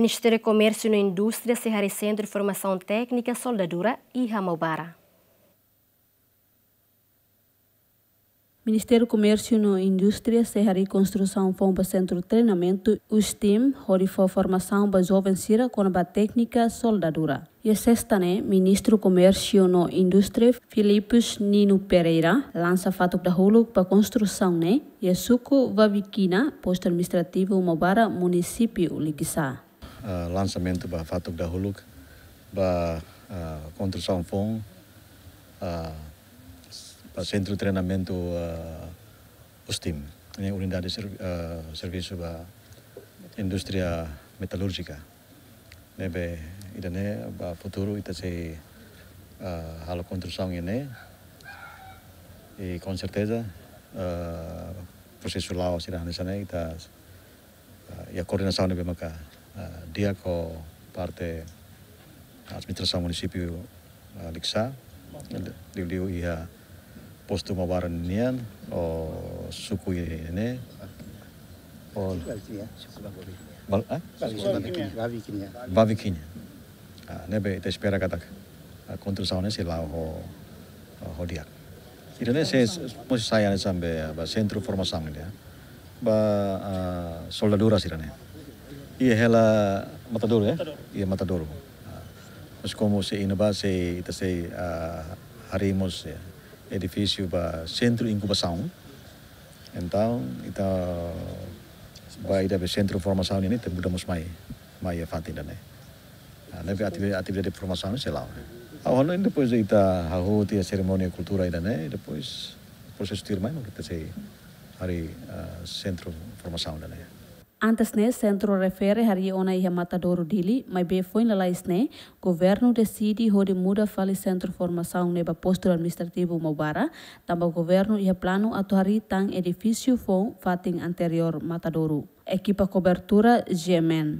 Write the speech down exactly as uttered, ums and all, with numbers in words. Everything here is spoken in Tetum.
Ministériu Komérsiu no Indústria sei harii Sentru Formasaun Téknika Soldadura iha Maubara. Ministériu Komérsiu no Indústria sei harii konstrusaun foun ba sentru treinamentu USTIM, hodi fó formasaun ba joven sira kona-ba téknika soldadura. Iha sesta ne'e, Ministru Komérsiu no Indústria, Filipus Nino Pereira, lansa fatuk dahuluk ba konstrusaun ne'e iha suku Vavikina, postu administrativu Maubara, munisípiu Likisá. Ah, lansamentu ba fatuk dahuluk ba, ah, konstrusaun foun, ah, ba sentru treinamentu, ah, USTIM, ne'e unidade ser-, ah, servisu ba indústria metalúrjika. Ne'ebé ida-ne'e ba futuru ita sei, ah, halo konstrusaun ne'e. I com certeza, ah, prosesu la'o sira hanesan ne'e ita, ah, iha koordenasaun ne'ebé maka, ah, di'ak ho parte administrasaun munisípiu, ah, Likisá, liuliu iha postu Maubara nian, ho suku ne'e, ho Val-, ah? Vavikina. Ah, ne'ebé ita espera katak, ah, konstrusaun ne'e sei la'o ho, ho di'ak. Ida-ne'e sei, sei mós sai hanesan be, ba sentru formasaun ne'e, ba, ah, soldadura sira-ne'e. Iha hela Matadouro, eh? Iha Matadouro. Ah, mas komu sei iha ne'ebá sei, ita sei, ah, harii mós, eh, edifísiu ba sentru inkubasaun. Entaun, ita ba ida be sentru formasaun ne'e, ita muda mós mai, mai iha fatin ida-ne'e. Ah, ne'ebé ativi-, atividade formasaun sei la'o. Ha'u hanoin depois de ita hahú tiha serimónia kultura ida-ne'e, depois prosesu tuirmai mak ita sei harii, ah, sentru formasaun ida-ne'e. Antes ne'e, sentru refere harii ona iha Matadouro Dili, maibé foin lalais ne'e, governu deside hodi muda fali sentru formasaun ne'e ba postu administrativu Maubara, tanba governu iha planu atu harii tan edifísiu foun fatin anteriór Matadouro. Ekipa kobertura G M N.